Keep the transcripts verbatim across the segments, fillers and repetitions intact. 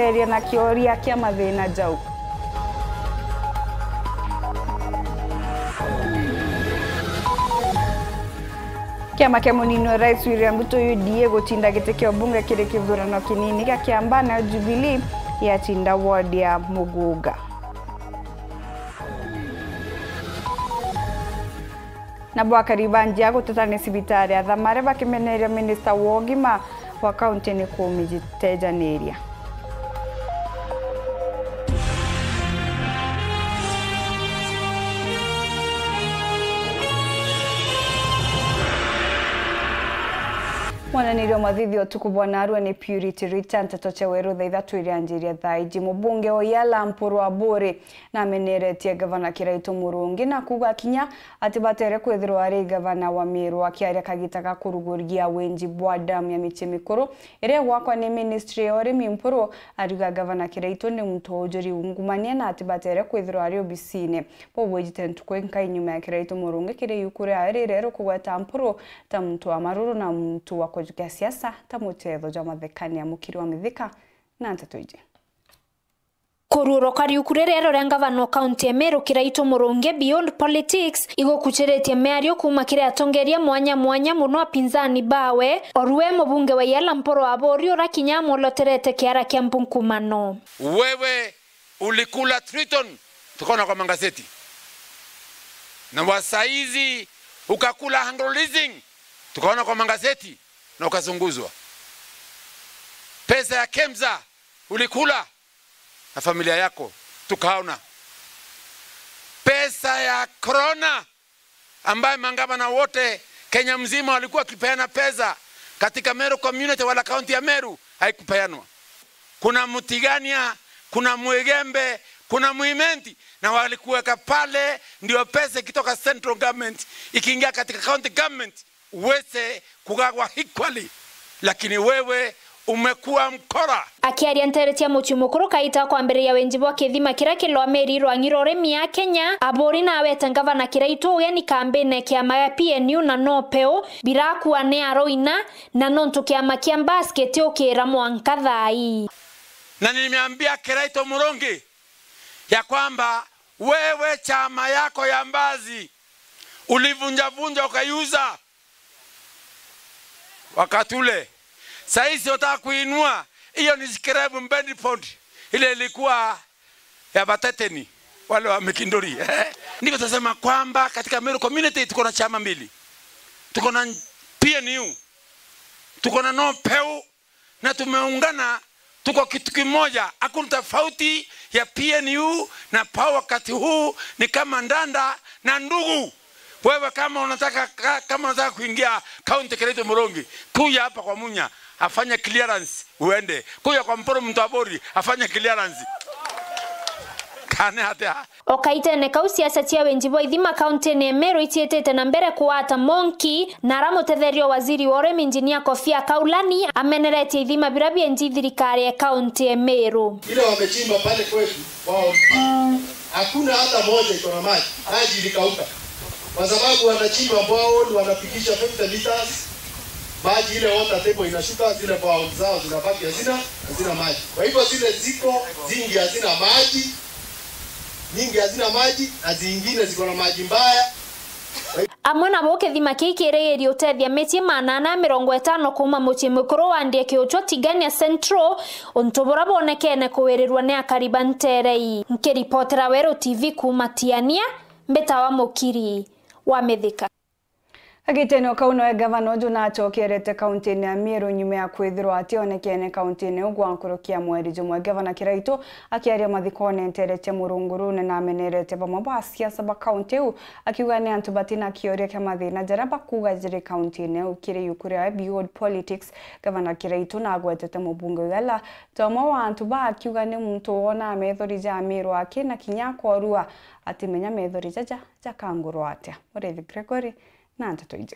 Eria na kioria kia mathina jau. Kiama kia munini wa Rais William Ruto, U D A, gutinda giti kia ubunge kiri kithurano kinini gia Kiambaa, nayo Jubilee yatinda ward ya Mugunga. Nabo akari ba Njia guteta ni cibitari ya Thamare bakimeneria minista wa ugima wa kaunti ni kumijitejaniria. Mwananirio mathithi utuku bwa narua ni Purity Rita, nteto cia weru thaa ithatu iria njiria thaa iji. Mubunge wa Yala Mpuru Aburi nameneretie Gavana Kiraitu Murungi na kuuga kinya atibatere kwithirwa ari gavana wa Meru. Akiaria kagita ga kuruguria winji bwa damu ya micii mikuru iria igwakwa ni ministry ya urimi, Mpuru ariuga Gavana Kiraitu ni muntu ujuri ungumania na atibatere kwithirwa ari obisine. Bau bwijite ntuku inkai nyuma ya Kiraitu Murungi kiri iuku riawe rireru kugweta Mpuru ta muntu wa maruru na muntu wa kujukia siasa ta muchetho jwa mathekania. Mukiri wa Mithika na nteto iji. Kuruuruka riuku riria riria ngavana wa kaunti ya Meru Kiraitu Murungi beyond politics igukuchiritie miario kuuma kiri atongeria mwanya mwanya, muno apinzani bawe, orue mubunge wa Yala Mpuru Aburi ura kinya amwoloterete kiara kia mpunkumano. Wewe ulikula Triton, tukaona kwa magazeti, na wasaizi ukakula Anglo Leasing, tukaona kwa magazeti na ukazunguzwa. Pesa ya KEMSA ulikula na familia yako, tukaona. Pesa ya corona ambaye mangavana wote Kenya mzima walikuwa wakipeana pesa katika Meru community wala kaunti ya Meru haikupeanwa. Kuna Mutigania, kuna Mwigembe, kuna Mwimenti, na walikuweka pale ndio pesa ikitoka central government ikiingia katika county government uweze kugagwa equally, lakini wewe umekuwa mkora. Akiaria nteere cia mucii mukuru kaita kwambiriria winji bwa kithima kiria kilwa Meri rwang'i rwa urimi ya Kenya, Aburi nawete ngavana Kiraitu ugeni kambine kiama gia P N U na no peu birakua ni aroina, na nontu kiama kia Mbas kitiukira mwanka thaa ii. Na nimeambia Kiraitu Murungi ya kwamba wewe chama yako ya Mbas ulivunjavunja ukaiuza wakati ule. Saizi wataka kuinua, hiyo ni scrap, mbedi pond ile ilikuwa ya Bateteni, wale wa Mikinduri. Ndivyo tunasema kwamba katika Meru community tuko na chama mbili. Tuko na P N U, tuko na no peu, na tumeungana, tuko kitu kimoja. Hakuna tofauti ya P N U na PAU wakati huu, ni kama ndanda na ndugu. Wewe kama unataka, ka-, kama unataka kuingia kaunti Kiraitu Murungi, kuja hapa kwa Munya, afanye clearance uende. Kuja kwa Mpuru Muthaburi, afanye clearance. Kane atia? O kaitene kau, siasa cia winji bwa ithima kauntine ya Meru iciitite na mbere kugwata monki, na ara mutetheria wa waziri wa urimi, Engineer Kofia Kaulani, ameneretie ithima biria bienji thirikari ya kaunti ya Meru. Ile wamechimba pale kwetu, wao hakuna hata moja iko na maji. Maji ilikauka. Kwa sababu wanachimba borehole, wanafikisha fifty meters, maji ile water table inashuka, zile borehole zao zinabaki hazina, hazina maji. Kwa hivyo zile ziko zingi hazina maji, nyingi hazina maji, na zingine ziko na maji mbaya. Amwe nabo kithima kii kirigirie utethia micii magana ana mirongo itano kuuma mucii mukuru wa Ndie Kiuchwa, Tigania Central, untu buria bwonekene kuwirirwa ni akari ba nteere ii. Nkiripotera Weru T V kuuma Tiania, mbitawa Mukiri wa Mithika. Agitene o kau noe gavana uju nachokerete kauntine ya Meru nyuma ya kwithirwa ationekene kauntine iu gwa nkuruki ya mweri jumwe. Gavana Kiraitu akiaria mathikone nteere cia Murungu Rune namenerete bamwe ba asiasa ba kaunti iu, akiuga ni antu batina kioria kia mathina jaria bakuuga jiri kauntine iu. Kiri iuku riawe Beyond Politics, gavana Kiraitu nagwetete mubunge Yala ta umwe wa antu ba akiuga ni muntu wonaa methori ja Meru aki na kinya akorua atimenya methori jaja jakangurwa atia. Muriithi Gregory na nteto iji.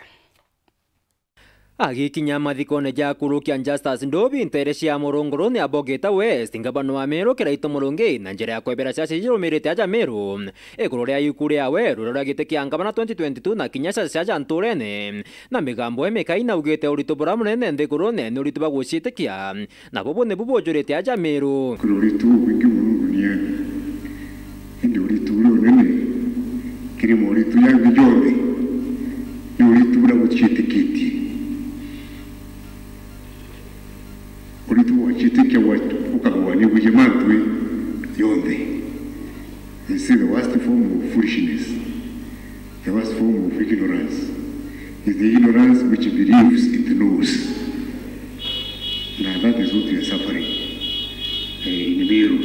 Agikinya mathikone ja kurukia Justus Ndobi nteere cia Murunguruni ya Bogita West, ngavana wa Meru Kiraitu Murungi, na njira ya kwebera ciaca iria irumirite aja Meru iguru ria iku riawe ruria rwa giti kia ngavana twenty twenty-two na kinya ciaca cia aja nturene, na migambo imikai naugite uritu buria munene nthigurune ni uritu bwa guciitikia. Nabo bu nibu bujurite aja Meru. Kwina uritu bubwingi mono duniani, indi uritu buria bunene kiri moritu jangi jonthe ni uritu buria buciitikitie. Uritu bwa ciitikia bwa-, bukagwani bwiji mantu jonthe. It's the worst form of foolishness. The worst form of ignorance is the ignorance which believes it knows. Na that is what we are suffering, eh, in Meru.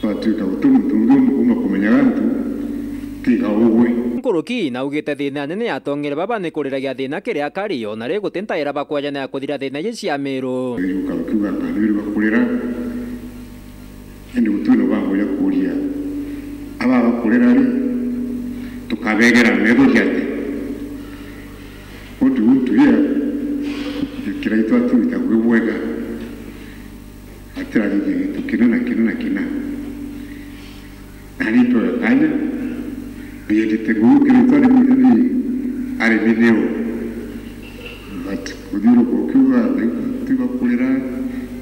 Twatuika guti muntu ungi uuma kumenyaga antu tiga ugwe. Nkuruki naugite thina nene yatongere baba ni kuriragia thina kiri akari, ona ri guti ntaira bakwajana ya kuthira thina iji cia Meru. Riu ukakiuga kana ni bakurira. Indi guti na bango ja kuuria, aba bakurira ri, tukabegera metho jate? What we want to hear, Kiraitu atwita gwi bwega, atirarithia gintu kina na kina na kina. Nani ntwega kanya, biyendete ngugi Kiraitu ari, ari, ari video. But kuthiuruka ukiuga, tiga kurira,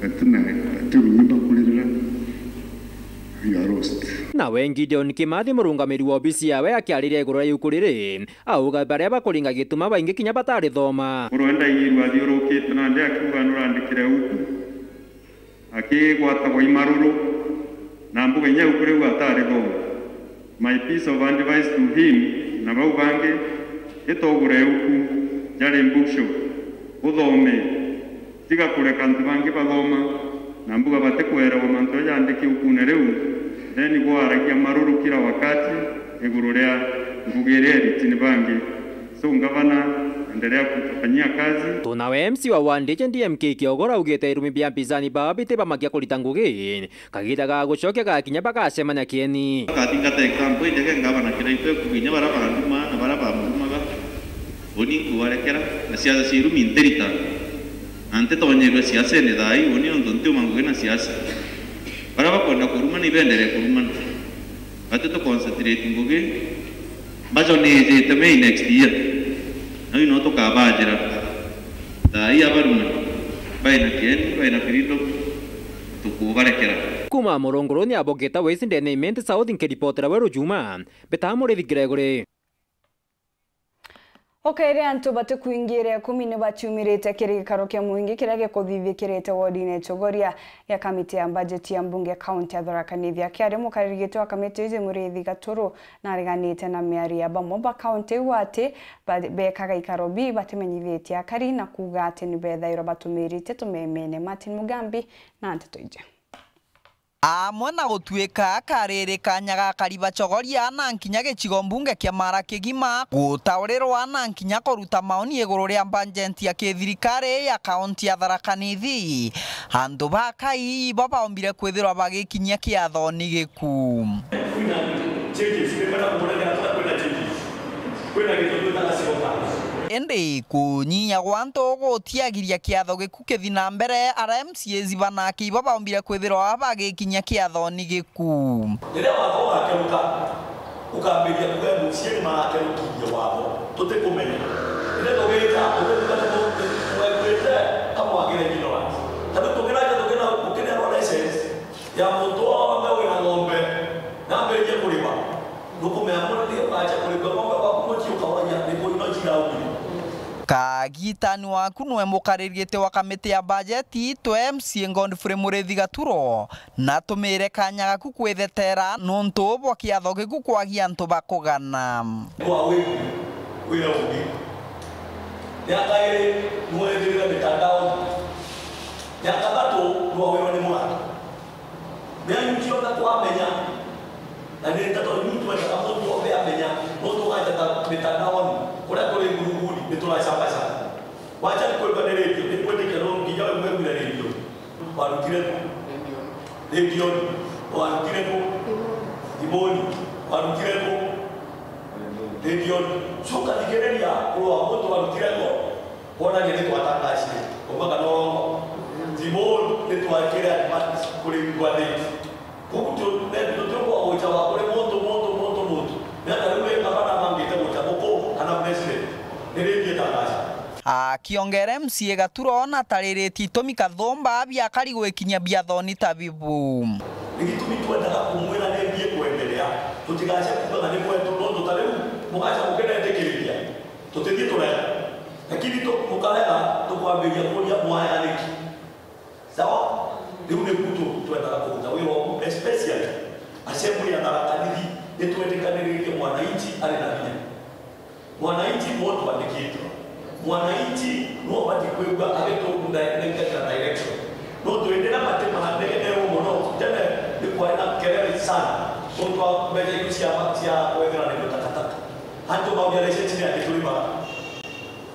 atina, ati runyimba kuririra. You are lost. Nawe Gideon Kimathi, murungamiri wa obisi yawe, akiariria iguru ria iuku riri, auga baria bakuringa gituma baingi kinya batarithoma. Murwenda iirwa athiurukite nandi akiuga nurandikire uku, akigwatagwa i maruru, na mbuga inya iuku riu atarithoma. My piece of advice to him na bau bangi, itogure iuku, jari bookshop, uthome. Tiga kureka antu bangi bathoma na mbuga batikwerewa mantu jaja jandiki iukune riu, then gwaragia maruru kila wakati iguru ria ngugi iria eritini bangi. So, ngavana, endelea kutufanyia kazi. Tunawe M C wa ward iji D M K Kiogora augite irumi bia mpinzani bao biti bamakia kurita ngugi, kagiita ga gucokia gakinya bagacemania kieni. Akathingata example injega ngavana Kiraitu ekuga inya baria bandumaa na baria bamurumaga. Uni nkubarekera, na siasa cia irumi ntirita, na ntitonyeerua siasene thaa ii, uni nontu ntiuma ngugi na siasa. Baria bakwenda kurumana, ibenderee kurumana. Bati tu concentrate ngugi, mbaco ni ijite May next year. Nau no tukabajira. Thaa ii abarumani, baina kieni, baina freedom, tukubarekera. Kuuma Murunguruni ya Bogita West ndene Imenti South, nkiripotera Weru Juma, mbitaga Murithi Gregory. Ukaire antu batikwingiire ikumi ni baciumirite kiri gikaro kia mwingi kiria gikuthithikirite wodine Chogoria gia kamiti ya bajeti ya mbunge kaunti ya Tharaka Nithi. Akiaria mukariri giti wa kamiti iji Muriithi Gaturu nareganite na miario ya bamwe ba kaunti iu ati ba-, bekaga ikaro bii batimenyithitie akari na kuuga ati ni bethairwa batumirite tumemene. Martin Mugambi na nteto iji. Amwe na gutuika kariri kanya ga kariba Chogoria na nkinya gicigo mbunge kia Mara kigima, gutaurirwa na nkinya kuruta maoni iguru ria bajeti ya kithirikari ya kaunti ya Tharaka Nithi, antu ba Kai ibo baombire kwithirwa bagikinyia kiathoni giku. Kwina changes, kwina changes. Kwina gintu twitaga zero balance. Indi kunyinya gwa antu gutiagiria kiatho giku kithi na mbere, aria M C As banake ibo baombire kwithirwa bagikinyia kiathoni giku. Riria watho ugakeruka, ukambiria kuuga M C A ni marakerukirie watho, tutikumenya. Riria tugita, tugita, tugita, kamwagire ignorance. Ta riu tukiraja tukina-, tukineanwa license ya muntu wonthe wina ng'ombe, na ambiririe kurima. Nukumenya murimi ugacha kurima ng'ombe waku mucii ukawaria, ni kuina ciraumire. Kagitani waku nwe mukariri giti wa kamiti ya bajeti, twe M C A Godfrey Murithi Gaturo, na tumire kanya gaku kwithetera nuntu bwa kiatho giku kwagia antu ba kugana. Kwa wiku, wira ungi. Miaka iri, nwethirire mitandaoni. Miaka thatu, nwawirwa ni mwana. Mea yu cionthe twamenya, na ni nteto yu twendaga muntu wonthe amenya, nontu wajata mitandaoni, kuria turi ngurunguni, ni turacabacaba. Wacha ni kwigua ni radio, ni kwitikia no nginya we mwigwire radio. Warutire ku? Redioni. Warutire ku? Thimuni. Warutire ku? Redioni. Cuka thikiriria kurwa muntu warutire ku? Kwonania ni twatangacire, kuma kana urongo. Ti buu ni twakire advance kuri ngwathiti. Koguo tu-, ne-, tutiumba gucawa kuri muntu, muntu, muntu, muntu. Ni ata riu ri ngavana abangite guca buku kana president? Ni ringi itangaca. Akiongera M C A Gaturo natariritie itumi kathumba biakari gwikinyia biathoni ta bibu. Ni gitumi twendaga kumwira ni mbi ikwenderea, tutigace kuuga na ni kwetu, nontu ta riu mugaca mukinetikiriria. Tutithii turega. Lakini tu-, tukarega, tukwambiria kuria mwaya niki? Sawa? Riu niku tu-, twendaga kuruta wira ugu, especially assembly ya Tharaka Nithi, nitwetikaniritie mwananchi ari na vinya. Mwananchi nwe twandikitwe. Mwananchi nwe ubati kwigua agitunda na direction. Nontu indi na mati mahandegete uguo mono, tene ni kwari na kelele sana. Nontu wa mbeca iu cia, cia kwethira ni takataka. Antu bauria license ni ati turimaga.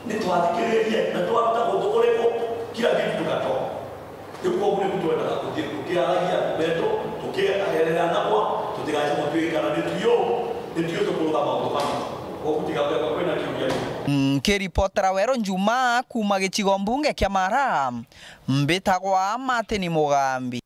Ni twathikiririe na twaruta guntu kuriku, kila kitu tukatoa. Riu koguo niku twendaga kuthii tukiaragia betu, tukiarerera nabwa, tutigace gutwikana ni tuyo, ni tuyo tukuruga maundu mama. Koguo tigakwenda kwina kiuria. Nkiripotera Weru Njuma kuuma gicigo mbunge kia Mara, mbitagwa Martin Mugambi.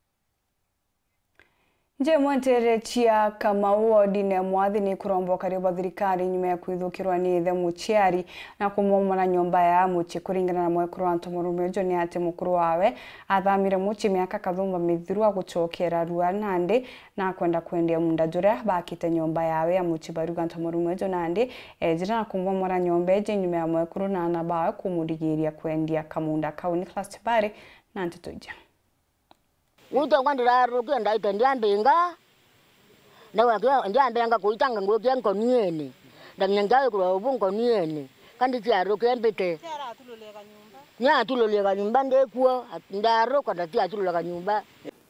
Njimwe nteere cia Kamau wodine ya Mwathi ni kuromba ukari bwa thirikari nyuma ya kwithukirwa ni ithe muciari na kumomora nyomba ya mucii. Kuringana na mwekuru wa ntomurume uju ni ati mukuru wawe athamire mucii miaka kathumba mithiru agucokera rua nandi na akwenda kwendia munda juria bakite nyomba yawe ya mucii. Bariuga ntomurume uju nandi ejire na kumomora nyomba iji nyuma ya mwekuru na aana bawe kumurigiria kwendia kamunda kau. Nicholas Chibari na nteto iji. Gwitangwa ndirarukia ndaite ndiambinga, na wakia ndiambinga kuitanga ngukia nkoniene, ndamenya njawe kurwa ubu nkoniene, kandi ciarukia mbite. Niatululie kanyumba ndikuo, ndaruka ndatiatulula kanyumba.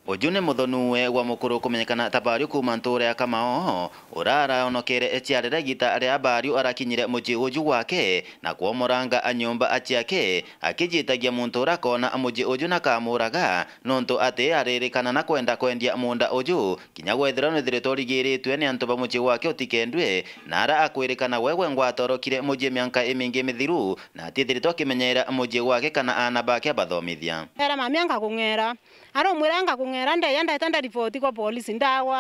Uju ni muthoniwe wa mukuru kumenyekana ta Bario kuuma ntuura ya Kamao, uria araonokere ciarire igita ria Bario arakinyire mucii uju gwake na kwomoranga nyomba ciake, akijitagia muntu uria akoona mucii uju na akamuraga, nontu ati aririkana na kwenda kwendia munda uju, kinya gwethirwa nwithiritwe urigiritwe ni antu ba mucii gwake utikendue, na ara akwirikana gwe gwe ngwata orokire mucii mianka imingi mithiru, na atiithiritwe akimenyera mucii gwake kana aana bake abathomithia. Era mami ankakung'era, aromwira ankakung'era, ndeya ndeta ndaripoti kwa polisi, ndagwa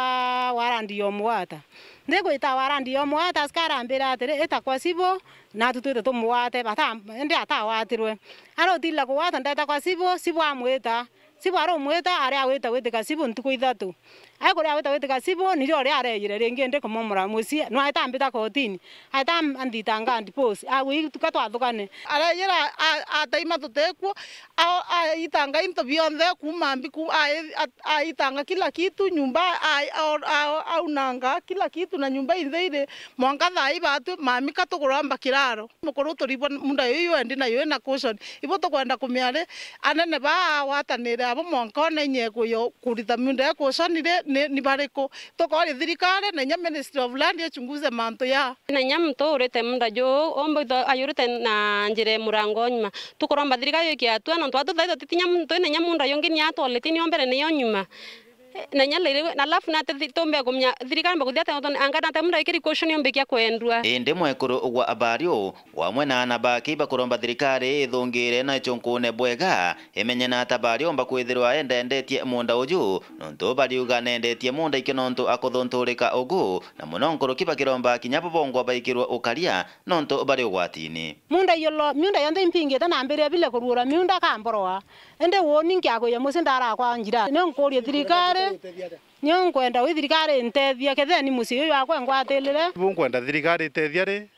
warandi yomugwata. Ndigwita warandi yomugwata, askari ambira atiri, ita kwa cibo, natu twite tumugwate, bata-, indi atagwatirwe. Arotila kugwata, ndeta kwa cibo, cibo amwita. Cibo aromwita, ari agwita gwitika cibo ntuku ithatu. Ai kuria agwita gwitika cibo, nirio uria areyire ringi ndi kumomora mucii, nwaita ambita kotini. Aita am-, anthitanga and boss. Agwi tuka twathukane. Areyira a-, ataima tutikuo, a-, aitanga into bionthe kuuma mbi ku-, ai-, a-, aitanga kila kitu, nyumba, ai-, a-, a-, aunanga kila kitu na nyumba inthe iri mwanka thaa ii batwi mami ka tukuromba kiraro. Mukuru turibwa munda yuyu endi nayo ina cushion. Ibo tukwenda kumia ri, anene baa agwatanire abo mwanka one inye kuyo kurita munda ya cushion ri, ni, ni bariku? Tukori thirikari na inya Ministry of Land ichunguze mantu ya. Na inya muntu urite munda juu, umbe itho ayurite na njira ya murango nyuma. Tukuromba thirikari yukie atua, nontu atu thaitha titinya muntu ina inya munda yungi ni atwaleti ni ombere ni yo nyuma. Na inya riri, na alafu nate thi-, tumbe kumenya thirikari mbakuthia ate, anga nate munda ikiri cushion yumbikia kwendua. Indi mwekuru wa Bario, wamwe na aana bake ibakuromba thirikari ithungire na ichunkune bwega, imenye na ata Bario omba kwithirwa endendetie munda uju, nontu bariuga nendetie munda iki nontu akuthunturika ugu, na muno nkuruki bakiromba kinya bo bongwa baikirwe ukaria nontu bari ugwatini. Munda yolo, miunda yonthe impingite na mbere bile kuruura miunda kamboroa. Indi uuni nkiagwia mucii ndarakwa njira. Nio nkuurie thirikari, nio nkwenda wi thirikari intethia, kethira ni mucii uyu wakwa ngwatirire. Ibu nkwenda thirikari itethia ri,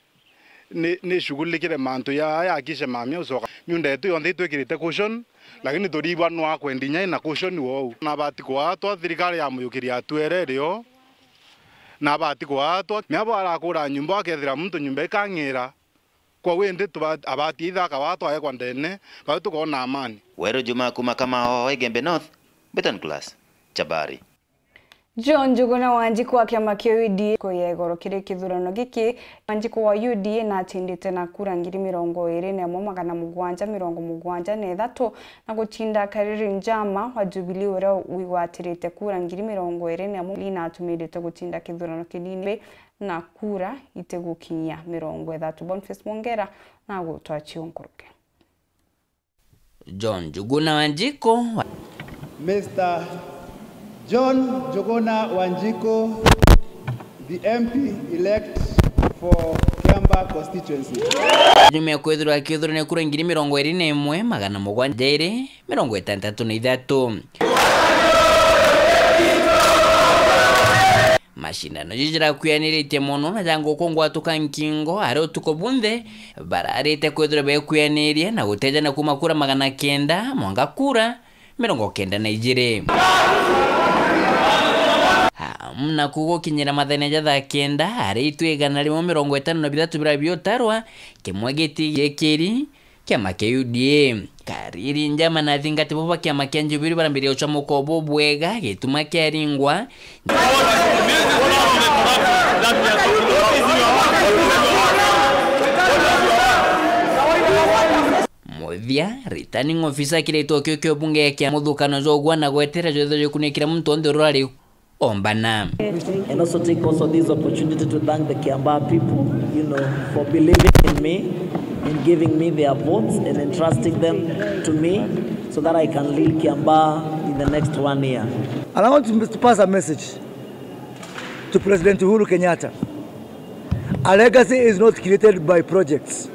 ni, ni shughulikire mantu ya, ya kishe mamia ucoka. Miunda yetu yonthe itwikirite cushion, lakini turibwa nwa kwendi nyai na cushion wou. Na abati kwatwa, thirikari ya muyukiria atuere rio, na abati kwatwa. Miabo arakura nyumba, akethira muntu nyumba ikang'ira. Kwa windi tuba-, abati ithaka wa twaekwa ndene, bau tukoona amani. Weru Juma kuma Kamao, Igembe North, Beton Class, Chabari. John Njuguna Wanjiku wa kiama kia U D A kuya igoro kiri kithurano giki. Wanjiku wa U D A natindite na kura ngiri mirongo iri na imwe magana mugwanja mirongo mugwanja na ithatu, na gutinda Kariri Njama wa Jubilee uria wigwatirite kura ngiri mirongo iri na imwe, natumirite gutinda kithurano kinini na kura itigukinyia mirongo ithatu. Boniface Mwongera na gutwachia nkuruki. John Njuguna Wanjiko. Mister John Njuguna Wanjiko, the M P elect for Kiambaa constituency. Nyuma ya kwithirwa akithurania kura ngiri mirongo iri na imwe, magana mugwanja iri mirongo itantatu na ithatu. Macindano jiji jirakuyaniritie mono na ja nguku ngwatuka nkingo, ari utuku bunthe bararite kwithirwa bekuyaniria na gutejana kuma kura magana kenda mwanka kura mirongo kenda na ijiri. Amu naku gukinyira mathenya ja thaa kenda, ari itu igana rimwe mirongo itano na bithatu biria biutarwa, kimwe giti gikiri kiama kia U D A. Kariri Njama na athingati bo ba kiama kia Jubilee barambirie gucamuka bubwega gituma kiaringwa. Muthia, returning officer kiritwe kio kio bunge kia muthukano jwa ugwa na gwetera jwetho jukunikira muntu onthe urari ombana. And also take also this opportunity to thank the Kiambaa people, you know, for believing in me, in giving me their votes and entrusting them to me so that I can lead Kiambaa in the next one year. And I want to pass a message to President Uhuru Kenyatta. A legacy is not created by projects.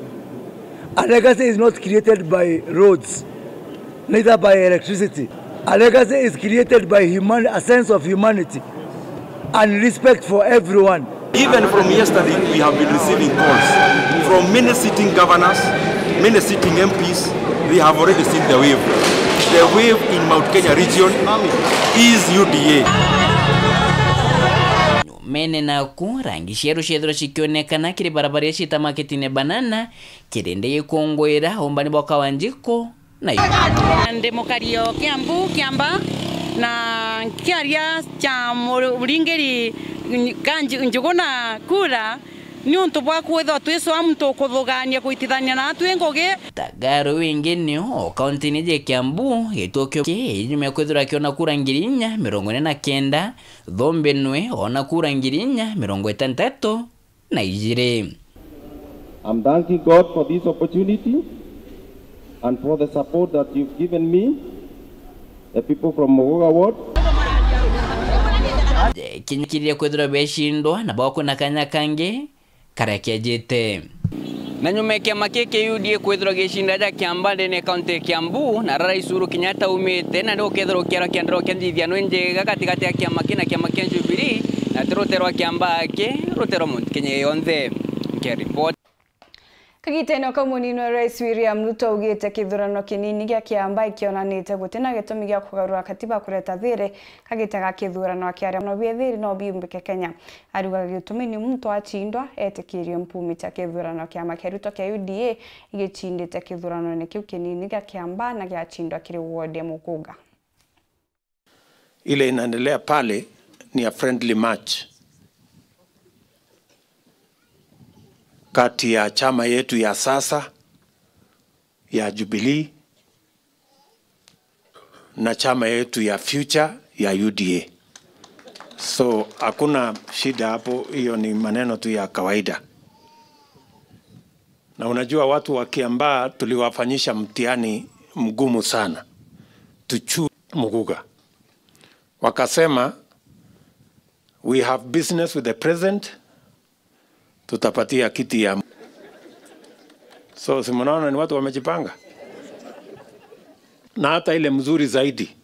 A legacy is not created by roads, neither by electricity. A legacy is created by human-, a sense of humanity and respect for everyone. Even from yesterday, we have been receiving calls from many sitting governors, many sitting M Ps. They have already seen the wave. The wave in Mount Kenya region is U D A. Mene naku, rangi cieru ciethirwa cikionekana kiri barabara iria ciita maketine Banana, kirindi gikungwira umbani bwa Kawanjiko na. Ndi mukari o Kiambu, Kiambaa, na nkiaria cha mu-, muringiri Nj-, Njuguna kura, niuntu bwa kwithirwa twi swamu tukuthugania kuitithania na atwi ngugi. Tagaru wingi nio o kauntini ji Kiambu, gituo kio ki nyuma ya kwithirwa kiona kura ngiri inya mirongo ine na kenda, Thumbi nwe ona kura ngiri inya mirongo itantatu na ijiri. I'm thanking God for this opportunity and for the support that you've given me, the people from Muguga Ward. Kinyikirire kwithirwa becindwa na bakwina kanya kangi karia kiejite. Na nyuma ya kiama kii kia U D A kwithirwa gicinda ja Kiambaa ndene ya kaunti ya Kiambu, na ara Rais Uhuru Kenyatta aumite, na ni gukethirwa gukiarwa kiandiro kia nthithiano injega gatigati ya kiama kii na kiama kia Jubilee, na ti rute rwa Kiambaa aki, rute rwa Mount Kenya yonthe. Nkea report. Kagitene o kau munini wa Rais William Ruto augite kithurano kinini gia Kiambaa ikionanite gutina gitumi gia kugarura katiba kureta thiri kagita ga kithurano, akiaria mono bia thiri no biumbike Kenya. Ariugaga gitumi ni muntu acindwa etikirie mpumi cha kithurano. Kiama kia Ruto kia U D A igicindite kithuranone kiu kinini gia Kiambaa na giacindwa kiri ward ya Muguga. Ile inaendelea pale ni a friendly match kati ya chama yetu ya sasa ya Jubilee na chama yetu ya Future ya U D A. So, hakuna shida hapo, hiyo ni maneno tu ya kawaida. Na unajua watu wa Kiambaa tuliwafanyisha mtihani mgumu sana. Tuchu Muguga. Wakasema, "We have business with the president, tutapatia kiti ya." So, si mnaona ni watu wamejipanga? Na hata ile mzuri zaidi,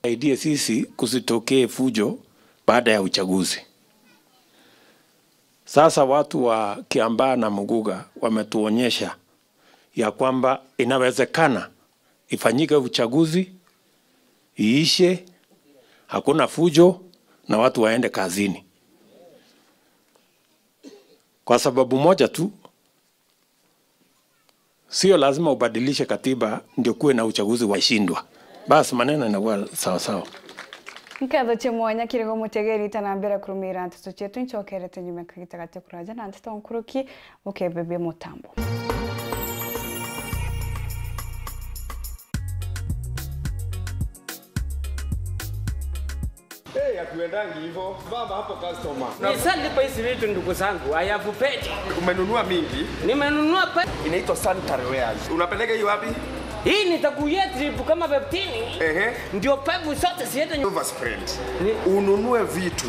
saidie sisi kusitokee fujo baada ya uchaguzi. Sasa watu wa Kiambaa na Muguga wametuonyesha ya kwamba inawezekana ifanyike uchaguzi, iishe, hakuna fujo na watu waende kazini. Kwa sababu moja tu, sio lazima ubadilishe katiba ndio kuwe na uchaguzi wa shindwa. Basi maneno inakuwa sawa sawa. Nkatho cia mwanya kirigo mutegeri tanambira kurumira nteto cietu, ncokerete nyuma kagita gati kuraja na nteto nkuruki. Ukebebia mutambo. Eh, hatuendangi hivyo. Baba hapo customer. Nishalipa hizi vitu, ndugu zangu. I have paid. Umenunua mingi? Nimenunua pe- Inaitwa sanitary wares. Unapeleka hiyo wapi? Hii nitakuia trip kama fifteen. Ehe. Ndio pevu zote ziende nyu- Overspend. Ni- Ununue vitu.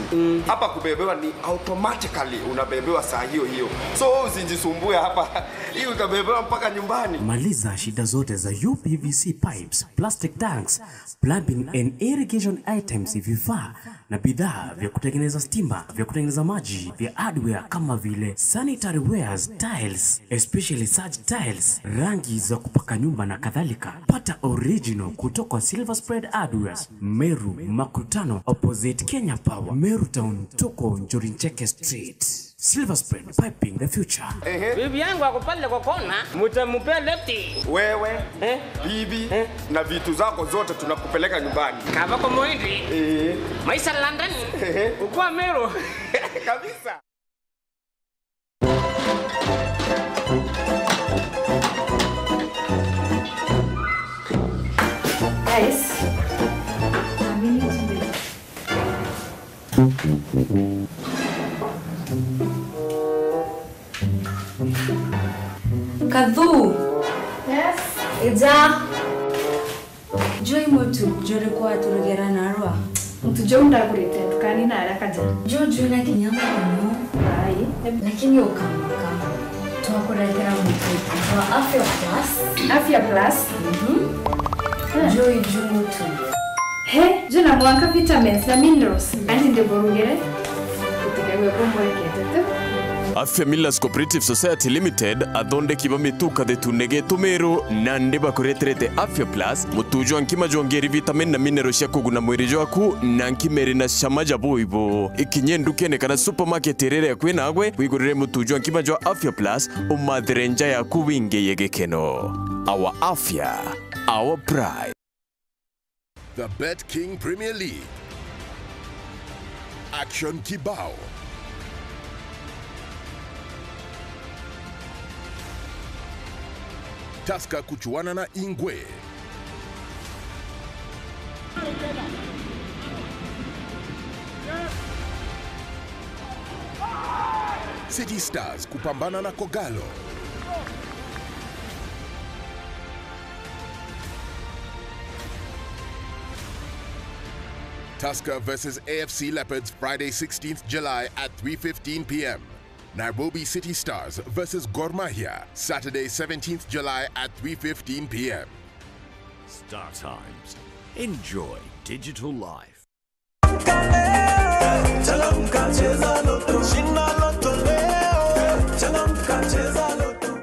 Hapa kubebewa ni automatically unabebewa saa hiyo hiyo. So wewe usijisumbue hapa. Hii utabebewa mpaka nyumbani. Maliza shida zote za U P V C pipes, plastic tanks, plumbing and irrigation items, vifaa na bidhaa vya kutengeneza stima, vya kutengeneza maji, vya hardware kama vile sanitary wares, tiles, especially such tiles, rangi za kupaka nyumba na kadhalika. Pata original kutoka Silver Spread Hardwares, Meru Makutano, opposite Kenya Power, Meru Town, tuko Njuri Ncheke Street. Silver Spread Piping the future. Ehe. Bibi yangu ako pale kwa kona, mtampea left. Wewe, eh? Bibi, eh? Na vitu zako zote tunakupeleka nyumbani. Kava kwa mwindi. Eh. Maisha London. Ehe. Ukua Meru. Kabisa. Guys, amini tumbili. Kathu. Yes. Ija. Juu i mutu juriku waturugera narua? Mutu juu ndagurite ndukani na araka ja. Juu juu na kinya muno. Ai. Lakini ukamaka. Twakuretera mutu wa Afya Plus. Afya Plus? Mhm. Eh. Juu i juu mutu. He, juu na mwanka vitamins na minerals. Kandi ndiburugire. Utikaiwe kumwekete tu. Afya Millers Cooperative Society Limited, athondeki ba mitu kathetune getu Meru, nandi bakureterete Afya Plus, mutu jwa nkima jwongeri vitamin na mineral cia kuguna mwiri jwaku, na nkima iri na cama ja buibu. Ikinye ndukene kana supermarket iria iri akui nagwe, wigurire mutu jwa nkima jwa Afya Plus, umathire nja yaku wingiye gikeno. Our Afya, our pride. The Bet King Premier League. Action kibao. Tusker kuchuana na Ingwe. City Stars kupambana na Kogalo. Tusker versus A F C Leopards, Friday sixteenth July at three fifteen p m. Nairobi City Stars versus Gor Mahia, Saturday seventeenth July at three fifteen p m. Star Times. Enjoy digital life. Changamka, cheza Lotto. Shinda Lotto leo. Changamka, cheza Lotto.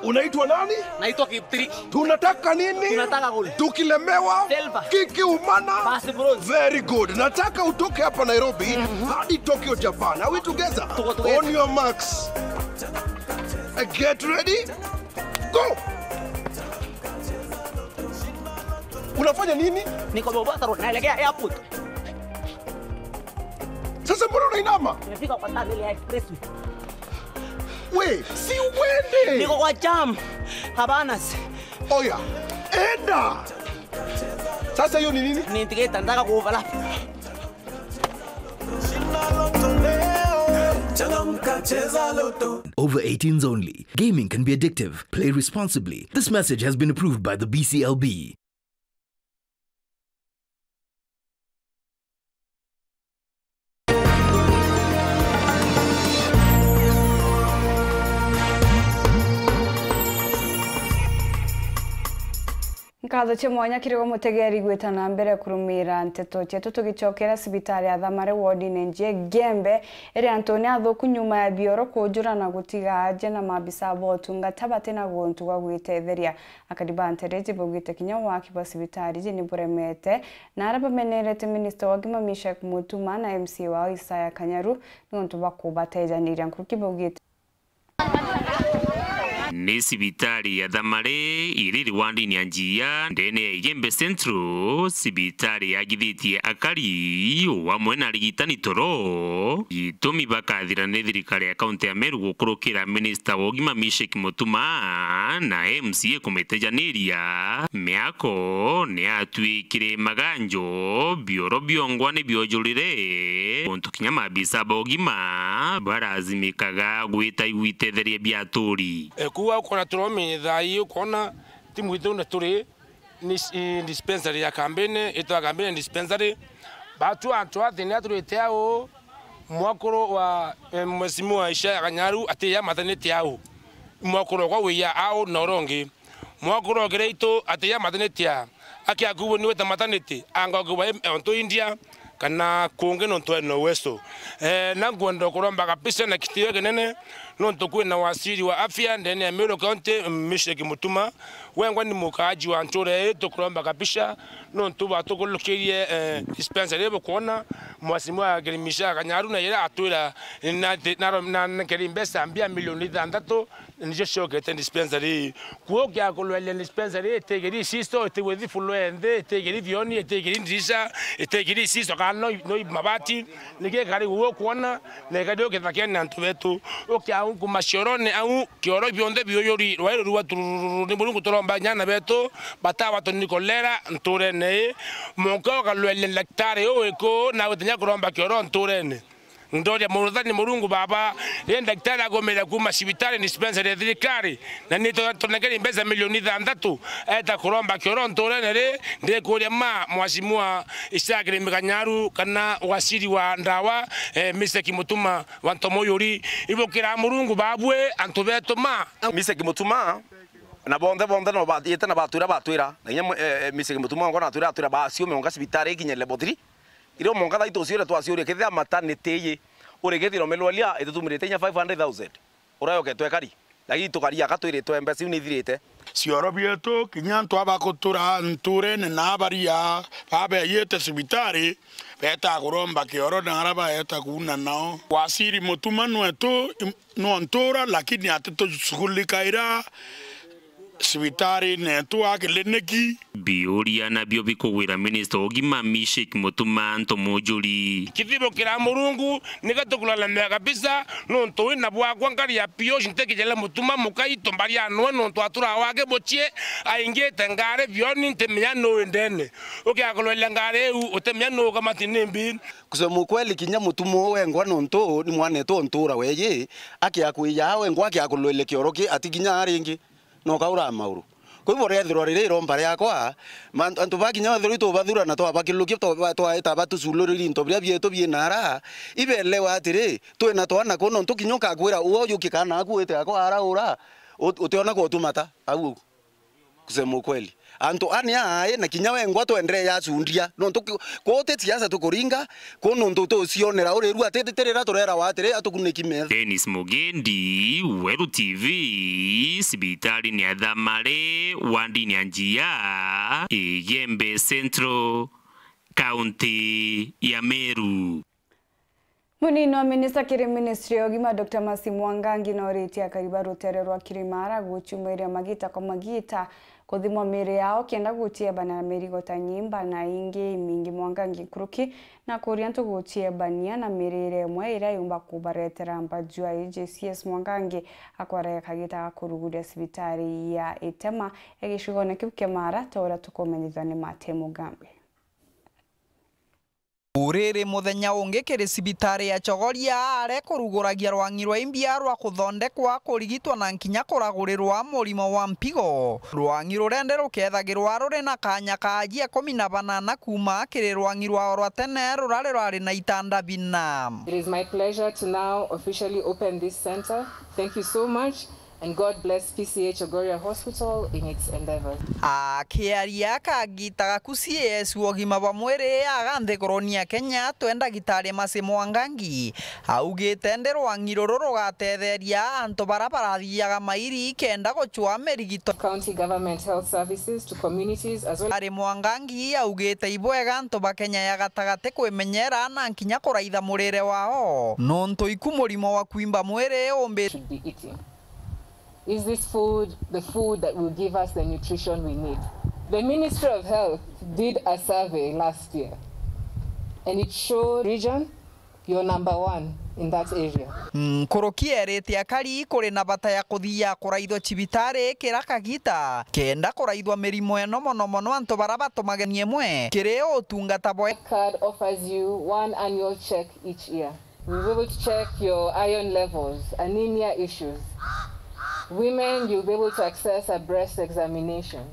Unaitwa nani? Naitwa Kiptiri. Tunataka nini? Tunataka gold. Tukilemewa, silver. Kikiumana, basi bronze. Very good. Nataka utoke hapa Nairobi hadi Tokyo, Japan. Are we together? Tuko together. On your marks. Uh, get ready. Go! Unafanya nini? Niko Mombasa Road, naelekea airport. Sasa mbona unainama? Nimefika kwa tunnel ya expressway. We, si uende. Niko kwa jam. Cabanas. Oya, enda. Sasa hiyo ni nini? Ni indicator, nataka ku overlap. Over eighteens only. Gaming can be addictive. Play responsibly. This message has been approved by the B C L B. Nkatho cia mwanya kiri gwe mutegeri gwita na mbere kurumira nteto cietu, tugicokera cibitari ya Thamare wodine Njie Gembe iri antune athuku nyuma ya bioro kujura na gutiga aja na maabisa ba utungata bati na guntu gwa gwitetheria. Akari ba ntere iji baugite kinya waki bwa cibitari iji ni buremete, na aria bamenerete minista wa ugima Meshack Mutuma na M C A wao Isaya Kanyaru niuntu bwa kubatejaniria nkuruki baugite. Ni cibitari ya Thamari iri wandini ya Njia, ndene ya Igembe Central, cibitari yagithitie akari, o amwe na arigitani toro, gitumi bakathira ni thirikari ya kaunti ya Meru gukurukira minista wa ugima Mishek Mutuma na M C A kumitejaniria. Miako ni yatuikire maganjo, bioro biongwa ni biojurire, untu kinya maabisa ba ugima barazimikaga gwita igwitetheria bia aturi. E, kuuga ukona turomi thaa ii, ukona timu itu na turi ni, i, dispensary ya Kambene, itwa Kambene dispensary. Batu antu athini aturite au mwakuru wa, e, Mheshimiwa Ishaya Kanyaru ati ya matanite au. Mwakuru kwa wiya au na urongi. Mwakuru ogere itu ati ya matanite a. Aki akubo ni weta matanite, anga okubo em-, onto India, kana kungi nontu ena uwezo. Eh, na nkwenda kuromba kabisa na kitio kinene, nontu kwina waziri wa afya ndene ya Meru County, Mishek Mutuma. Wengwa ni mukaaji wa ntura ii, tukuromba kabisa, nontu batukurukirie, eh, dispensary ii bukwona, Mheshimiwa Kirimisha Kanyaru na ira atwira na, na, na, na nkeri mbeca mbia milioni ithanthatu, nicio ciokete dispensary ii. Kuo kia kulweria dispensary ii itigiri isisto, itigwithi floor nthi, itigiri bioni, itigiri ndirisha, itigiri isisto, kana no, no mabati, niki ikari guo kwona, na ikari ukithakene antu betu. Ukia kuma ciorone au, kioro bionthe biuyuri, rwai rurua turururu, ni Murungu turomba nyana betu, batawa tuni kolera nturene ii. Monka ukalweria daktari uu wiku, na gutinya kuromba kioro nturene. Ndoria Mwathani Murungu Baba, ri daktari agumire kuuma cibitari dispensary ya thirikari, na ni to-, tonengeri mbeca milioni ithanthatu, eta kuromba kioro nturene ri, ndikuria ma Mheshimiwa Ishaya Kirimi Kanyaru kana waziri wa ndawa, eh, Mishek Mutuma wa Ntomuyuri, ibukira Murungu babwe antu betu ma. Mishek Mutuma, na bonthe, bonthe no bathiite na batwira, batwira, na inya mwe-, eh, eh, Mishek Mutuma ngo natwira, atwira baciume onga cibitari ikinye level three, Irio mwanka thaa itu uciure twaciuria, kethira maternity iji, uri kethira umelwalia, itutumirite inya five hundred thousand. Urayoke twekari. Lakini tukari aka twiritwe mbeca iu ni ithirite. Cioro bietu, kinya antu aba kutura nturene na abaria, babeeyite cibitari, beeta kuromba kioro na ara baeta kuuna nao. Waziri Mutuma nwetu, im-, nontura, lakini atitushughulikia ira cibitari netu a kiliniki. Biuria nabio bikugwira minista wa ugima Mishek Mutuma Ntomujuri. Kithibukira Murungu, nika tukulalamikia kabisa, nontu wina bwakwa nkari ya P O C ntikijele Mutuma mukai tumbari anwe, nontu atura wake buchie, aingite ngari bioni ntimenya nuu ndene. Ukia kulweria ngari iu, utimenya nuu kamati nimbi. Kusema ukweli, kinya Mutuma uu wengwa nontu ni mwanetu ontura weeji, akia kwija wengwa akia kulweria kioro ki ati kinya aringi. Noka ura mauru. Kwa hivyo, rethirwa riri iromba riakwa, ma-, antu ba kinya wethirwa itubathura na twabakirukia, twa-, twaeta batuculuriri into biria bietu bie nara, ibelewa atiri, twina twana kuu, nontu kinya ukakwira, "Uwe uju kikana aku wite akwa araura," ut-, utiona kwa utumata, au ugu. Kusema ukweli. Antu ani aai, na kinya wengwa twenderee yacundia, nontu ki-, kuu ti siasa tukuringa, Kuu nontu tucionera uri riu ati ti rira turerawa atiri atukuniki metho. Dennis Mugendi, Weru T V, cibitari ni ya Thamari, wandini ya Njia, Igembe Central, kaunti ya Meru. Munini wa minista kiri ministry ya ugima, Doctor Mercy Mwangangi, noritie akari ba rutere rwa Kirimara gucumairia magita kwa magita kuthimwa miiri yao kenda gutiebana na mirigo ta nyimba na ingi imingi. Mwangangi nkuruki na kuria antu gutiebania na mirire imwe iria yumba kubaretera mbajua. A G C S Mwangangi akwaraga kagita ga kuruguria cibitari ya Itema ya gicigone kiu kia Mara, ta uria tukumenyithua ni Mate Mugambi. Uriri muthenya ungi kiri cibitari ya Chogoria, are kuruguragia rwang'i rwa imbia rwa kuthondekwa, kurigitwa na nkinya kuragurirwa murimo wa mpigo. Rwang'i rurende rukethagirwa ruri na kanya ka ajia ikumi na banana kuuma kiri rwang'i rwao rwa tene rurari rwari na itanda bina. It is my pleasure to now officially open this center. Thank you so much. And God bless P C A Chogoria Hospital in its endeavors. Akiaria kagita gaku C A S wa ugima bwa mwiri aga nthiguruni ya Kenya, twe ndagitari Mercy Mwangangi, augite ndi rwang'i ruru rugatetheria antu bara barathiaga mairi kenda gucua mirigito. County Government Health Services to communities as well. Ari Mwangangi augite ibwega antu ba Kenya ya gatagati kwimenyera na nkinya kuraitha murire wao, nontu iku murimo wa kwimba mwiri umbi. Should be eating. Is this food the food that will give us the nutrition we need? The Ministry of Health did a survey last year, and it showed region, you're number one in that area. Nkuruki erite akari kuri na bata ya kuthia kuraithwa cibitari kira kagita, kenda kuraithwa mirimo eno, mono mono antu bara batumagania imwe kiri utungata bwa. Card offers you one annual check each year. We'll be able to check your iron levels, anemia issues. Women, you'll be able to access a breast examination.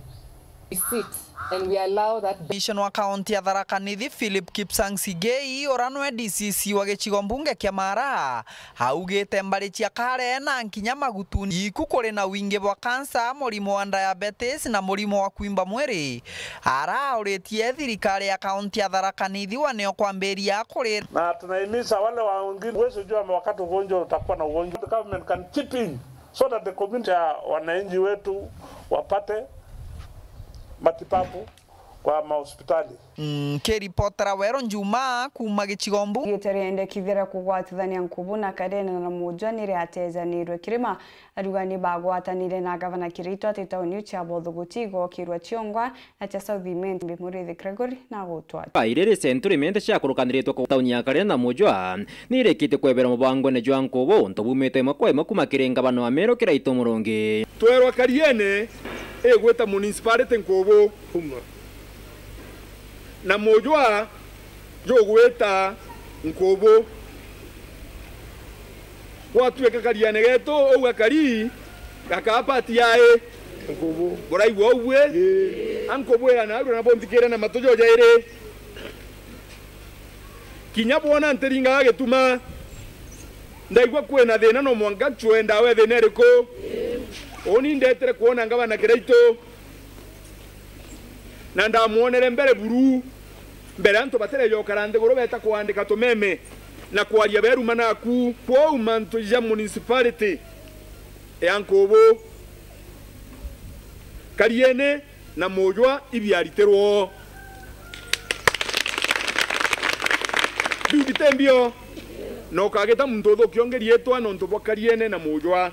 We sit and we allow that. Commissioner wa kaunti ya Tharaka Nithi, Philip Kipsang Sigei, ura nwe D C C wa gicigo mbunge kia Mara, augite mbari cia Kare na nkinya Magutuni iku kuri na wingi bwa kansa, murimo wa diabetes na murimo wa kwimba mwiri. Arauritie thirikari ya kaunti ya Tharaka Nithi wa nio kwambiria kuri. Na tunahimiza wale wa wengine, huwezi jua wakati ugonjwa utakuwa na ugonjwa. The government can chip in so that the community ya wananchi wetu wapate matibabu kwa mahospitali. Nkiripotera Wero Njuma kuuma gicigo mbu. Gite riendekithia ria kugwatithania nkubu na Kariene na Mujwa ni riatejaniirwe kirima. Arugani bagwatanire na Gavana Kirito ati tauni cia Bothuguti igokirwa ciongwa na cia South Imenti. Murithi Gregory na gutwa. Iri ri Century Imenti ciakurukaniritwe ku tauni ya Kariene na Mujwa ni irikitie kwebera mubangone jwa nkubu, untu bumite imwe kwa imwe kuma kiri ngavana wa Meru Kiraitu Murungi. Twerwa Kariene igwita municipality nkubu. Na Mujwa jugwita nkubu. Gwatuika Kariene getu, uu gakari gakaa pati yae. Nkubu. Buraigua uu bwi? Ii. Ankubwira narua na bunthikire na matu jo jairi. Kinya bwona ntiringaga gituma, ndaigua kwina thina, no mwanka ncue ndawa ya thina iriku? Uni ndetire kwona ngavana Kiraitu. Na ndamwonere mbere buru, mbere antu batireja ukara nthiguru beta kuandika tumeme na kwaria beruma naku. Kwou mantu ja municipality ya Nkubu, Kariene na Mujwa ibiaritirwo. Biu biti mbio, na ukagita muntu uthukia ungi riitwa nontu bwa Kariene na Mujwa.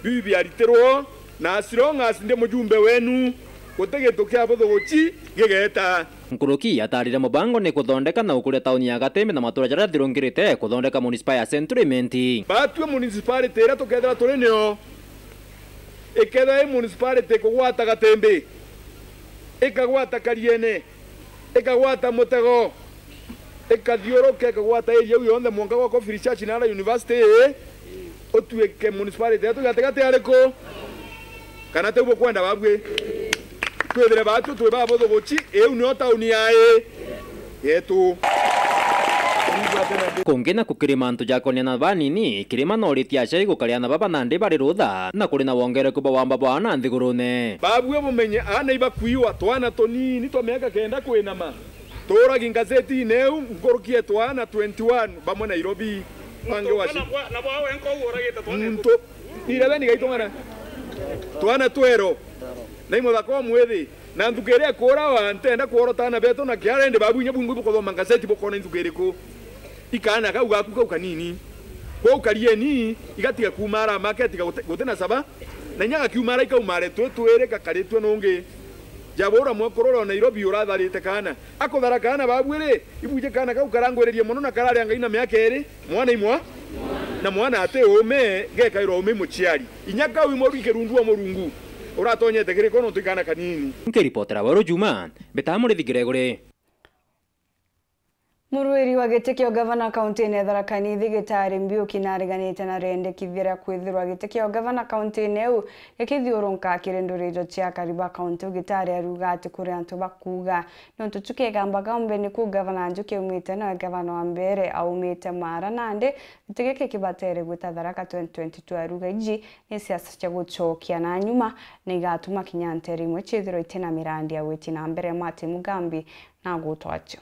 Biu biaritirwo, na as long as ndi mujumbe wenu, guti gintu kia buthuguci gigeta. Nkuruki atarire mubango ni kuthondeka na gukuria tauni ya Gatembe na matura jaria athirungirite kuthondeka municipal ya Century Imenti. Batue municipality iria tukethira turi nio, ikethira i municipality kugwata Gatembe, ikagwata Kariene, ikagwata Mutego, ikathiuruka, ikagwata area iu yonthe, mwanka gwa Coffee Church na ara university ii, utuike municipality yetu gatigati ariku? Kana tiu bukwenda babui? Twithire batu twi babuthuguci, iu nio tauni yae yetu. Kungi na kukiri mantu ja konia na banini, Kirima noritie aciari gukaria aana baba nandi bari rutha, na kuri na wongereku bwa wamba bwa aana nthigurune. Babui bumenye aana ibakuiwa, twana tunini twa miaka kenda kwinama. Tuuragi ngazetine iu, nkuruki e twana twenty-one bamwe Nairobi, bangi waci. Muntu eleven gaitong'ana. Twana twero. Na i muthaka o mwithi. Na nthuki iria ikuurawa, ntenda kworota aana betu na kiara, indi babu inya bungwi bukuthoma ngazeti bukona i nthuki iriku. Ikaana kau gaku kau kanini. Kwou Karieni, igatiga kuuma ara make, tiga guti, guti na saba. Na inya gakiuma ara ikauma are twi twiri gakaritue nungi. Jabura mwekuru uria o Nairobi uratharite kaana. Akuthara kaana babu ri, ibuje kaana kau karangwiririe mono na kararia Ngai na miaka iri, mwana imwa, na mwana ati uume, gekairwa uume i muciari. Inya kau i muru i kirundu o Murungu, uratonyete kiriko nontu i kaana kanini. Nkiripotera Weru Juma, mbitaga Murithi Gregory. Murwiri wa giti kia ugavana kaunti-ini ya Tharaka Nithi Gitari Mbiuki nareganite na riendekithia ria kwithirwa giti kia ugavana kaunti-ini iu gikithiurunka kiri ndurijo cia akari ba kaunti iu. Gitari aruga ati kuri antu bakuuga nontu tu kigamba gaumbe niku gavana Njuki aumite, nawe gavana wa mbere aumite Mara, nandi giti giki kibatere gwita Tharaka twenty twenty-two. Aruga iji ni siasa cia gucokia na nyuma na igatuma kinya ntere imwe ciithirwa itina mirandi ya gwiti na mbere. Martin Mugambi na gutwacio.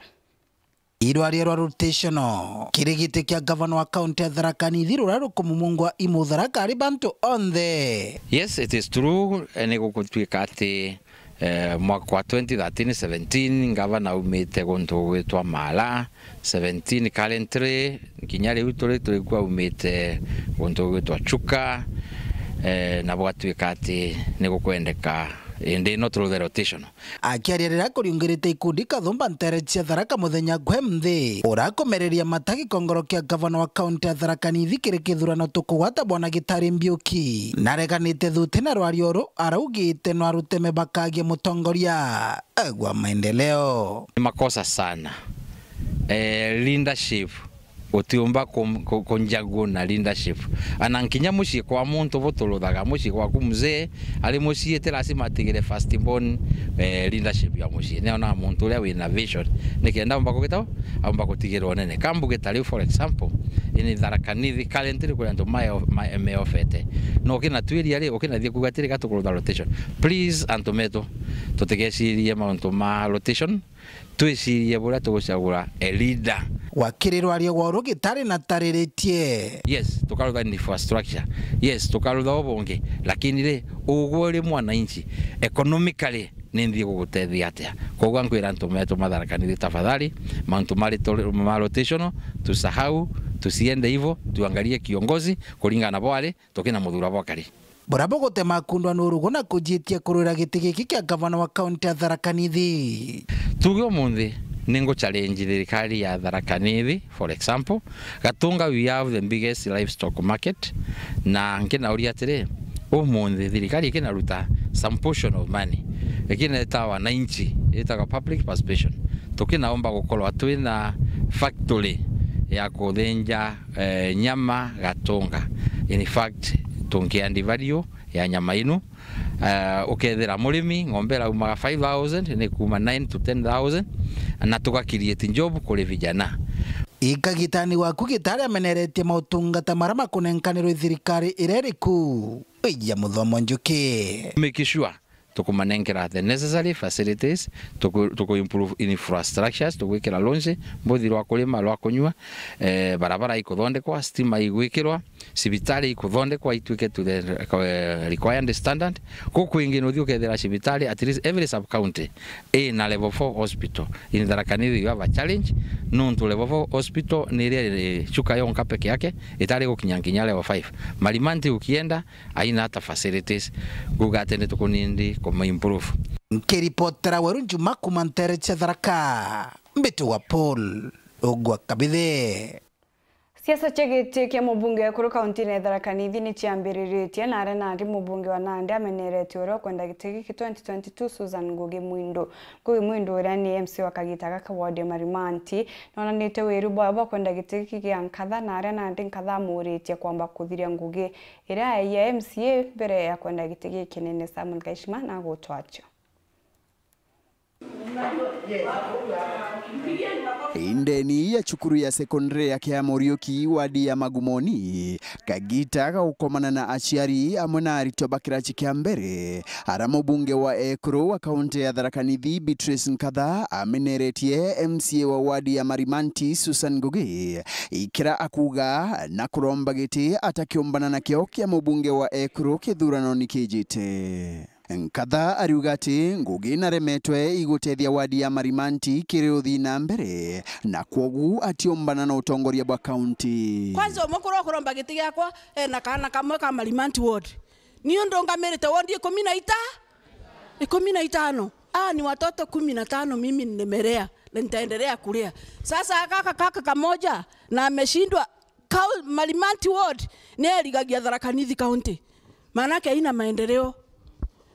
Irwaria rwa rotational kiri giti kia gavana wa kaunti ya Tharaka Nithi ruria rukumumungwa i Mutharaka ari bantu onthe. Yes, it is true, eh, ni gugutuika ati, eh, mwaka wa twenty thirteen seventeen, gavana aumite guntu gwitwa Mara, seventeen currently, kinya riu turi, turi ku aumite guntu gwitwa Chuka. Eh, na bwatuika ati ni gukwendeka, indi no through the rotation. Akiaria riria akuriungirite ikundi Kathumba ntere cia Tharaka muthenya gwe nthi, urakumereria mata gikongoro kia gavana wa kaunti ya Tharaka Nithi kiri kithurano tukugwata Bwana Gitari Mbiuki, nareganite thuti na rwario ru araugite no aruteme bakagia mutongoria gwa maendeleo. Ni makosa sana. Eh, leadership utiumba ku-, ku-, kunjagua na leadership. Ana nkinya mucii kwa muntu buturuthaga, mucii gwaku mzee ari mucii, ti lazima atigire first born, eh, leadership ya mucii. Niona muntu uria wina vision, nikenda aumba kugita, aumba kutigirwa unene. Kambugita riu, for example, ini Tharaka Nithi currently kuri antu mae-, mae-, meofete. No ukina twiria ri, ukina thie kuga atiri, gatukurutha rotation. Please, antu metu, tutigecirie mauntu ma rotation. Twicirie buria tugucagura a leader. Wakiri rwario gwa uru Gitari na tariritie. Yes, tukarutha infrastructure. Yes, tukarutha ubungi. Lakini ri, ugwe uri mwananchi, economically, ni nthii gugutethia atia? Koguo nkwira antu metu ma Tharaka Nithi, tafadhali, mauntu ma rito-, ma rotational, tusahau, tusiende hivo, tuangalie kiongozi kuringana na bwari, tukina muthura bwakari. Buria bugutema kundwa ni urugu na kujiitia kurwira giti giki kia gavana wa kaunti ya Tharaka Nithi. Tuge umunthi ni ngu challenge thirikari ya Tharaka Nithi, for example, Gatunga we have the biggest livestock market, na nkinauria atiri, umunthi thirikari ikinaruta some portion of money, ikineta wananchi, itaga public participation, tukinaomba gukorwa twina factory ya kuthinja eh, nyama Gatunga. In fact, tunkiandi value ya nyama inu, eh, ukethira murimi ng'ombe iraumaga five thousand ni kuma nine to ten thousand, na tuga create job kuri vijana. Ikagitani gwaku Gitari ameneretie mautungata maria makunenkanirwe thirikari iria iriku. Ija Muthomo Njuki. Make sure tukumanenkera the necessary facilities, tuku-, tuku improve infrastructures, tugwikira launch, mbuthi rwa kurima, rwa kunyua, eh, barabara ikuthondekwa, stima igwikirwa, cibitari ikuthondekwa ituike to the, eh, required standard. Guku ingi nuthi ukethira cibitari, at least every sub county ina level four hospital. In Tharaka Nithi you have a challenge, nontu level four hospital ni iria iri Chuka yonka peke yake, itari gukinya nginya level five. Marimanti ukienda, aina ata facilities, nguga ati ni tukunindi kuma improve. Nkiripotera Weru Njuma kuma ntere cia Tharaka, mbitagwa Paul Ogwa Kabithe. Siasa cia giti kia mubunge wa ekuru kauntine ya Tharaka Nithi ni ciambiriritie, na aria nandi mubunge wa nandi ameneretie uria ukwenda giti giki twenty twenty-two, Susan Ngugi Mwindu. Ngugi Mwindu uria ni M C A wa kagita gaka ward ya Marimanti, nonanite wiru bwawe bwa kwenda giti giki gia nkatha, na aria nandi nkatha amuritie kwamba kuthiria ngugi iria aia M C A mbere ya kwenda giti giki kinene. Samuel Gaishima na gutwacho. Indeni ya cukuru ya sekondari ya Kia Muriuki, wadi ya Magumoni, kagita ga gukomana na aciari amwe na aritwa ba kirachi kia mbere, ara mubunge wa ekuru wa kaunti ya Tharaka Nithi, Beatrice Nkatha, ameneretie M C A wa wadi ya Marimanti, Susan Ngugi, ikira akuga na kuromba giti atakiumbana nakio kia mubunge wa ekuru kithuranoni kijite. Nkatha ariuga ati Ngugi naremetwe igutethia wadi ya Marimanti kiri uthii na mbere, na kwogu atiumbana na utongoria bwa kaunti. Kwanza, umwe kuria ukuromba giti giakwa ena kaana kamwe ka Marimanti ward. Niu ndungamirite ward ikumi na ita-, ikumi na itano. Aa ni watoto kumi na tano mimi nimelea na nitaendelea kulea. Sasa kaka, kaka kamoja na ameshindwa. Kau-, Marimanti ward ni erigagia Tharaka Nithi County. Maanake haina maendeleo.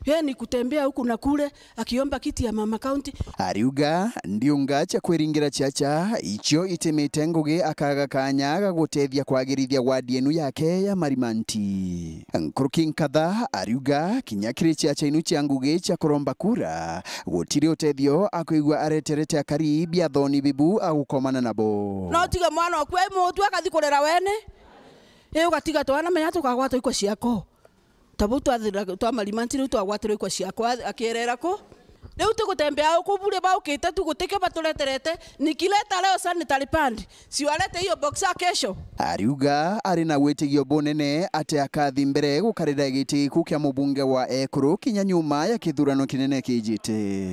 Yeye ni kutembea huku na kule akiomba kiti ya mama county. Ariuga ndiunga cia kwiringira ciaca icio itimite Ngugi akaga kanya ga gutethia kwagirithia wadi enu yake ya Marimanti. Nkuruki Nkatha ariuga kinya kiri ciaca inu cia Ngugi cia kuromba kura, gutiri utethio akwigua areterete akari biathoni bibu agukomana nabo. No utige mwana oku ai mutu akathi kurera wene. Ii ugatiga twana menya tukagwatwa ikwa ciako. Ta bau twathira-, twa Marimanti riu twagwatirwa ikwa ciako a-, akierera ku. Riu tugutembea uku bure baukite tu gutikio batureterete. Nikileta leo sanitary pad. Si walete hiyo boxer kesho. Ariuga ari na witigio bunene ati akathi mbere gukarira giti giku kia mubunge wa ekuru kinya nyuma ya kithurano kinene kijite.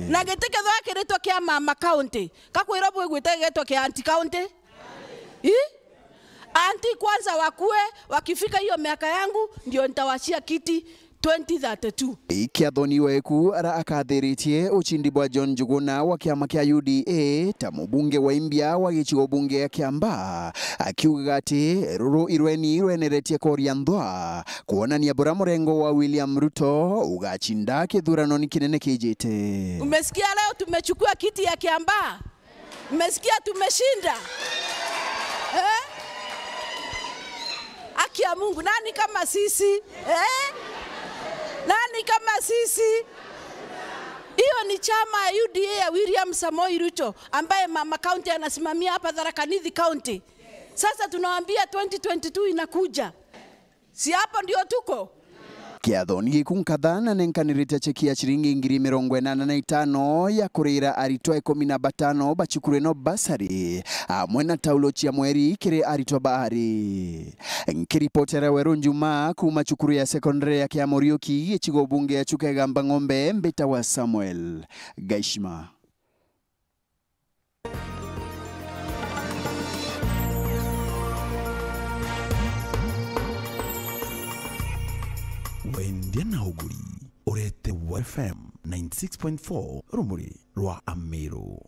Na giti kethwa kiritwa kia mama county, kakwirwa bwigwite gigitwa kia aunty county? Ii? Anti kwanza wakue, wakifika hiyo miaka yangu, ndio nitawachia kiti twenty thirty-two. Kiathoni weku ara akathiritie ucindi bwa John Njuguna wa kiama kia U D A ta mubunge wa imbia wa gicigo bunge ya Kiambaa, akiugaga ati ruru irweni rweneretie koria nthwa, kuonania bura murengo wa William Ruto ugacinda kithuranoni kinene kijite. Umesikia leo tumechukua kiti ya Kiambaa? Mmesikia tumeshinda? Eh? Haki ya Mungu, nani kama sisi? Eh? Nani kama sisi? Hiyo ni chama ya U D A ya William Samoei Ruto, ambaye mama county anasimamia hapa Tharaka Nithi County. Sasa tunawaambia twenty twenty-two inakuja. Si hapo ndio tuko? Kiathoni giku nkatha na nenkanirite cheki ya ciringi ngiri mirongo inana na itano ya kurira aritwa ikumi na batano ba cukuru ino basari, amwe na taulo cia mweri kiri aritwa baari. Nkiripotera Weru Njuma kuuma cukuru ya sekondari ya Kiamuriuki, gicigo bunge ya Chuka Igamba Ng'ombe, mbitagwa Samuel Gaishima. Wendia na uguri, urete wa F M ninety six point four, rumuri rwa Amiru.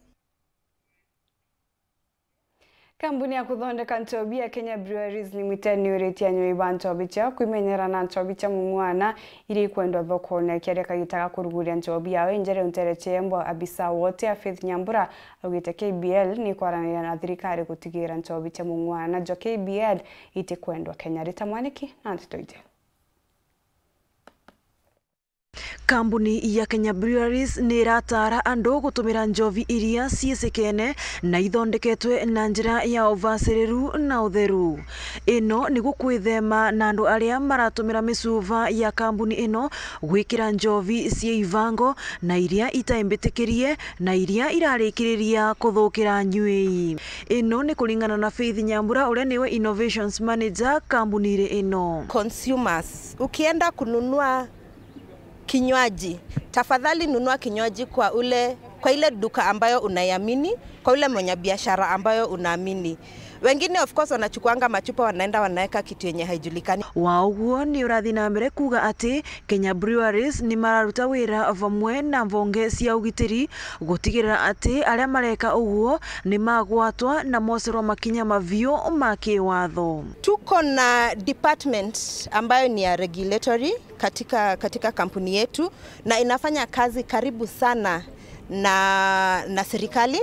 Kambuni ya kuthondeka nchobi ya Kenya Breweries Limited ni yuritie anywi ba nchobi ciao kwimenyera na nchobi cia mung'wana iria ikwendwa thokone. Akiaria kagita ga kuruguria nchobi yao injere untere ciembo, abisa wote ya Faith Nyambura augite K B L ni ikwaraniria na thirikari gutigira nchobi cia mung'wana jwa K B L itikwendwa Kenya. Rita Mwaniki na ndeto iji. Kambuni ya Kenya Breweries ni irataara andu gutumira njovi iria ciicikene na ithondeketwe na njira ya uvaciriru na utheru. Ino niguo kwithema na andu aria maratumira micuva ya kambuni ino gwikira njovi cia ivango na iria itaimbitikirie na iria irarikiriria kuthukira nywii. Ino ni kuringana na Faith Nyambura, uria niwe Innovations Manager kambunire ino. Consumers, ukienda kununua kinywaji, tafadhali nunua kinywaji kwa ule, kwa ile duka ambayo unaiamini, kwa ule mwenye biashara ambayo unaamini. Wengine of course wanachukuanga machupa, wanaenda wanaweka kitu yenye haijulikani. Wa uguo ni urathi na mbere kuuga ati Kenya Breweries ni mararuta wira vamwe na mvonge cia ugitiri gutigirira ati aria mareka uguo ni magwatwa na mocerwa makinya maviu ma kiwatho. Tuko na department ambayo ni ya regulatory katika, katika kampuni yetu, na inafanya kazi karibu sana na, na serikali,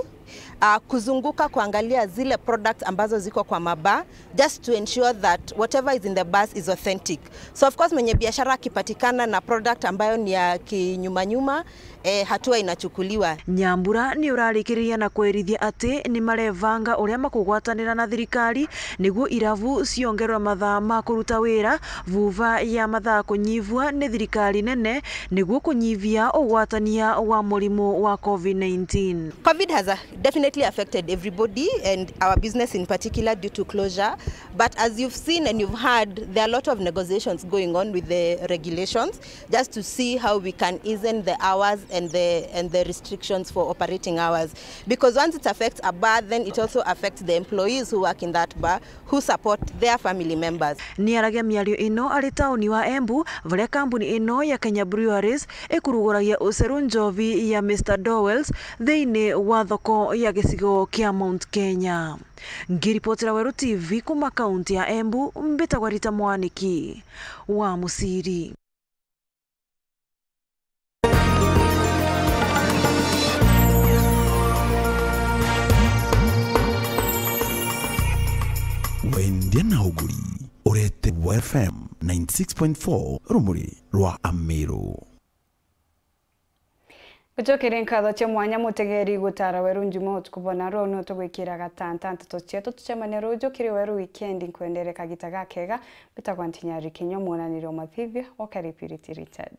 ah, kuzunguka kuangalia zile products ambazo ziko kwa mabaa, just to ensure that whatever is in the bars is authentic. So of course, mwenye biashara akipatikana na product ambayo ni ya kinyumanyuma, eh, hatua inachukuliwa. Nyambura ni urarikiriria na kwerithia ati ni marevanga uria makugwatanira na thirikari niguo irabu ciongerwe mathaa ma kuruta wira, vuva ya mathaa kunyivua ni thirikari nene niguo kunyivia ugwatania wa murimu wa covid nineteen. Covid has, uh, definitely affected everybody and our business in particular due to closure. But as you've seen and you've heard, there are a lot of negotiations going on with the regulations just to see how we can ease in the hours and the, and the restrictions for operating hours. Because once it affects a bar, then it also affects the employees who work in that bar, who support their family members. Ni aragia miario ino ari tauni wa Embu, varia kambuni ino ya Kenya Breweries ikuruguragia uceru njovi ya Mister Dowells thiini wa thoko ya gicigo kia Mount Kenya. Ngiripotera Weru T V kuma kaunti ya Embu, mbitagwa Rita Mwaniki wa Muciri. Wendia na uguri, urete wa F M ninety six point four, rumuri rwa Amiru. Gucokeria nkatho cia mwanya mutegeri gutara Weru Njuma utuku bona ruu nu tugwikira gatanta nteto cietu. Tucemania ruju kiri Weru Weekend, nkwendere kagita gakega. Mbitagwa Ntinyari Kinyua, mwonaniri wa mathithio wa Karipiriti Richard.